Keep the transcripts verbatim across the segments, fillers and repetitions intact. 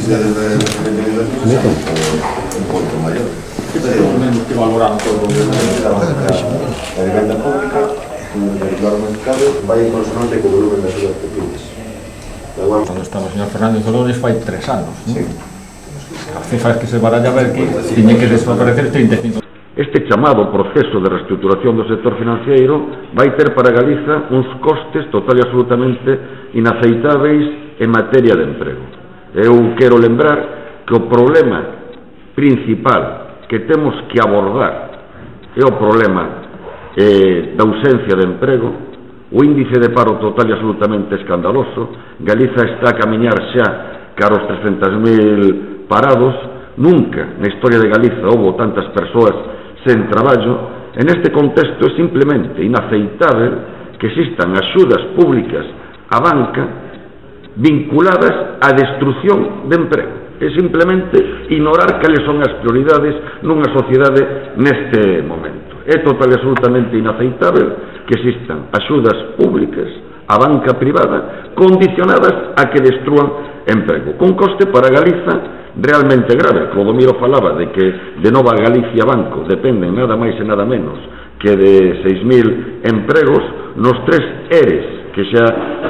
índice de rentabilidade un punto maior. Temos que valorar todo o que a vivenda pública, o mercado, vai en consonante co volumen das súas pequenas. Cando estaba o señor Fernández Dolores fai tres anos. Sí. As cifras que se baralla a ver que tiñen que desaparecer trinta e cinco. Este chamado proceso de reestruturación do sector financiero vai ter para Galiza uns costes total e absolutamente inaceitáveis en materia de emprego. Eu quero lembrar que o problema principal que temos que abordar é o problema eh, da ausencia de emprego, o índice de paro total e absolutamente escandaloso. Galiza está a camiñar xa cara aos trescentos mil parados. Nunca na historia de Galiza houve tantas persoas sen traballo. En este contexto é simplemente inaceitável que existan axudas públicas á banca vinculadas á destrucción de emprego. É simplemente ignorar cales son as prioridades nunha sociedade neste momento. É total e absolutamente inaceitável que existan axudas públicas á banca privada condicionadas a que destrúan emprego, con coste para Galiza realmente grave. Clodomiro falaba de que de Nova Galicia Banco dependen nada máis e nada menos que de seis mil empregos. Nos tres ERES que xa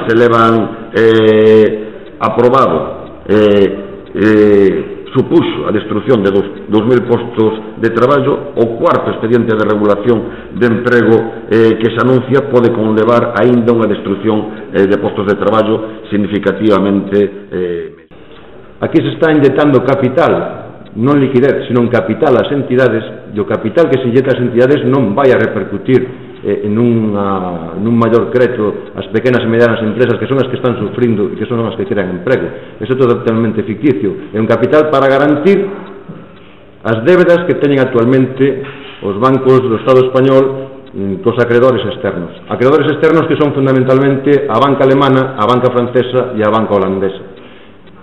se levan eh, aprobado eh, eh, supuxo a destrucción de dos mil postos de traballo. O cuarto expediente de regulación de emprego eh, que se anuncia pode conlevar aínda unha destrucción eh, de postos de traballo significativamente eh, Aquí se está inyectando capital, non liquidez, sino capital ás entidades, e o capital que se inyecta ás entidades non vai a repercutir eh, en unha, nun maior crédito ás pequenas e medianas empresas, que son as que están sufrindo e que son as que crean emprego. Eso é totalmente ficticio. É un capital para garantir as débedas que teñen actualmente os bancos do Estado español cos acreedores externos. Acreedores externos que son fundamentalmente a banca alemana, a banca francesa e a banca holandesa.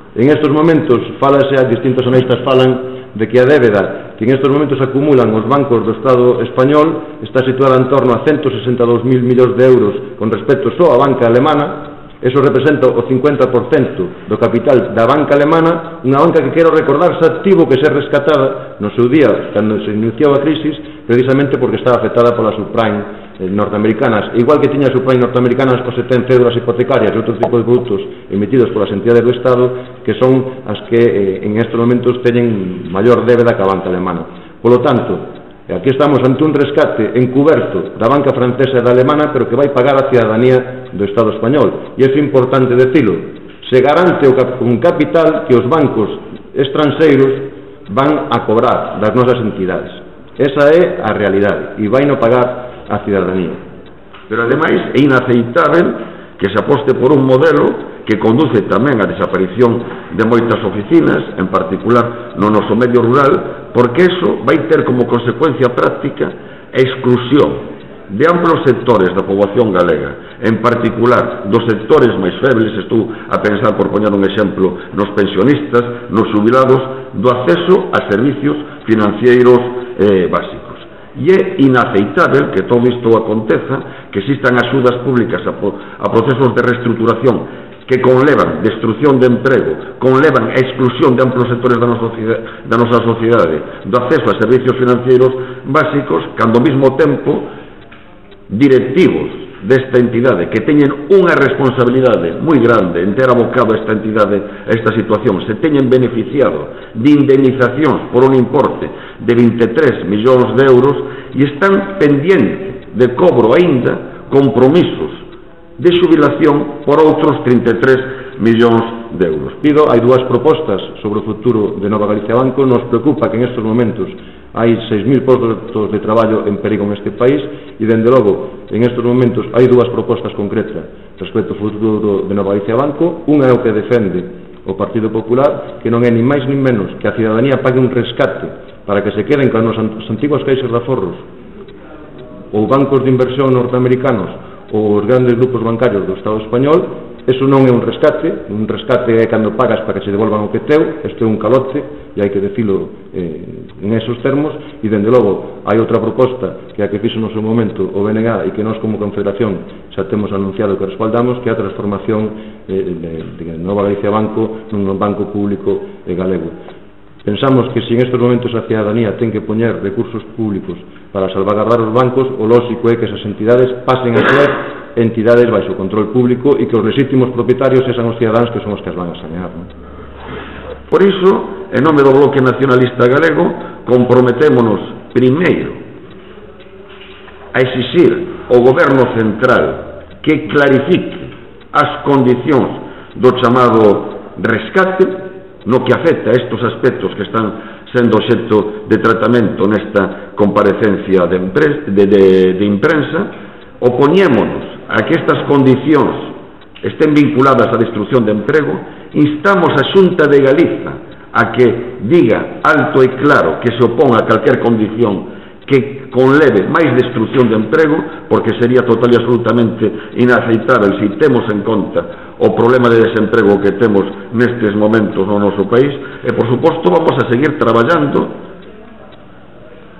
En estes momentos, falase, distintos analistas falan de que a débeda que en estes momentos acumulan os bancos do Estado español está situada en torno a ciento sesenta e dous mil millóns de euros con respecto só á banca alemana. Eso representa o cincuenta por cento do capital da banca alemana, unha banca que, quero recordar, xa tivo que ser rescatada no seu día, cando se iniciou a crisis, precisamente porque estaba afectada pola subprime norteamericanas, igual que tiña subprime norteamericanas os setenta cédulas hipotecarias e outros tipos de produtos emitidos polas entidades do Estado, que son as que eh, en estes momentos teñen maior débeda que a banca alemana. Polo tanto, aquí estamos ante un rescate encuberto da banca francesa e da alemana, pero que vai pagar a cidadanía do Estado español. E é importante decilo, se garante un capital que os bancos estranxeiros van a cobrar das nosas entidades. Esa é a realidade, e vai non pagar a cidadanía. Pero ademais é inaceitável que se aposte por un modelo que conduce tamén á desaparición de moitas oficinas, en particular no noso medio rural, porque eso vai ter como consecuencia práctica a exclusión de amplos sectores da poboación galega, en particular dos sectores máis febles. Estou a pensar, por poñer un exemplo, nos pensionistas, nos xubilados, do acceso a servicios financeiros eh, básicos. E é inaceitável que todo isto aconteza, que existan axudas públicas a, a procesos de reestruturación que conlevan destrucción de emprego, conlevan a exclusión de amplos sectores da nosa, da nosa sociedade do acceso a servicios financeiros básicos, cando ao mesmo tempo directivos desta entidade que teñen unha responsabilidade moi grande en ter abocado esta entidade a esta situación, se teñen beneficiado de indemnizacións por un importe de vinte e tres millóns de euros e están pendientes de cobro aínda compromisos de xubilación por outros trinta e tres millóns de euros. Pido, hai dúas propostas sobre o futuro de Nova Galicia Banco. Nos preocupa que en estes momentos hai seis mil postos de traballo en perigo neste país e, dende logo, en estes momentos hai dúas propostas concretas respecto ao futuro de Nova Galicia Banco. Unha é o que defende o Partido Popular, que non é ni máis ni menos que a cidadanía pague un rescate para que se queden con as antiguas caixas de aforros ou bancos de inversión norteamericanos ou os grandes grupos bancarios do Estado español. eso non é un rescate, un rescate é cando pagas para que se devolvan o que teu, isto é un calote, e hai que decilo eh, en esos termos, e dende logo hai outra proposta que é a que fixo no seu momento o B N G e que nós como Confederación xa temos anunciado que respaldamos, que é a transformación eh, de, de Nova Galicia Banco nun banco público eh, galego. Pensamos que se en estes momentos a cidadanía ten que poñer recursos públicos para salvaguardar os bancos, o lógico é que esas entidades pasen a ser entidades baixo control público e que os legítimos propietarios sean os cidadáns que son os que as van a sanear, non? Por iso, en nome do Bloque Nacionalista Galego, comprometémonos primeiro a exixir ao Goberno Central que clarifique as condicións do chamado rescate no que afecta a estes aspectos que están sendo obxecto de tratamento nesta comparecencia de, de, de, de imprensa. Opoñémonos a que estas condicións estén vinculadas á destrucción de emprego, instamos a Xunta de Galiza a que diga alto e claro que se opón a calquer condición que conleve máis destrucción de emprego, porque sería total e absolutamente inaceitável se temos en conta o problema de desemprego que temos nestes momentos no noso país. E, por suposto, vamos a seguir traballando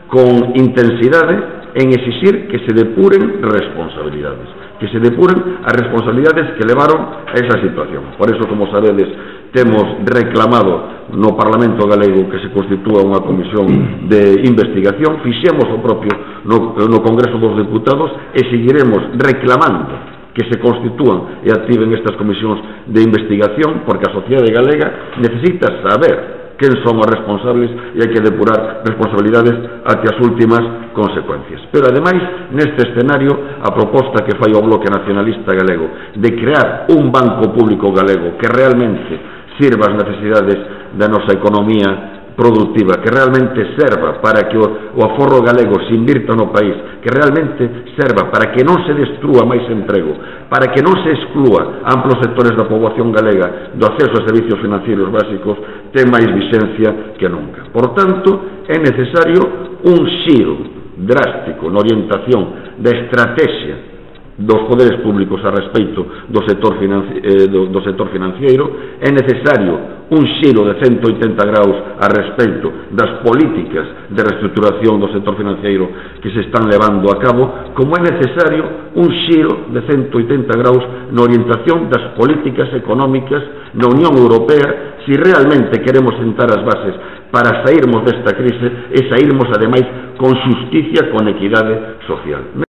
con intensidade en exixir que se depuren responsabilidades, que se depuren as responsabilidades que levaron a esa situación. Por eso, como sabedes, temos reclamado no Parlamento Galego que se constitúa unha comisión de investigación, fixemos o propio no, no Congreso dos Deputados e seguiremos reclamando que se constitúan e activen estas comisións de investigación, porque a sociedade galega necesita saber quen son os responsables e hai que depurar responsabilidades até as últimas consecuencias. Pero, ademais, neste escenario, a proposta que fai o Bloque Nacionalista Galego de crear un banco público galego que realmente sirva as necesidades da nosa economía productiva, que realmente serva para que o, o aforro galego se invirta no país, que realmente serva para que non se destrúa máis emprego, para que non se exclúa amplos sectores da poboación galega do acceso a servicios financeiros básicos, ten máis vixencia que nunca. Por tanto, é necesario un xiro drástico na orientación da estrategia dos poderes públicos a respeito do sector, eh, do, do sector financiero. É necesario un xiro de ciento oitenta graus a respeito das políticas de reestruturación do sector financiero que se están levando a cabo, como é necesario un xiro de ciento oitenta graus na orientación das políticas económicas na Unión Europea, se realmente queremos sentar as bases para sairmos desta crise e sairmos, ademais, con xusticia, con equidade social.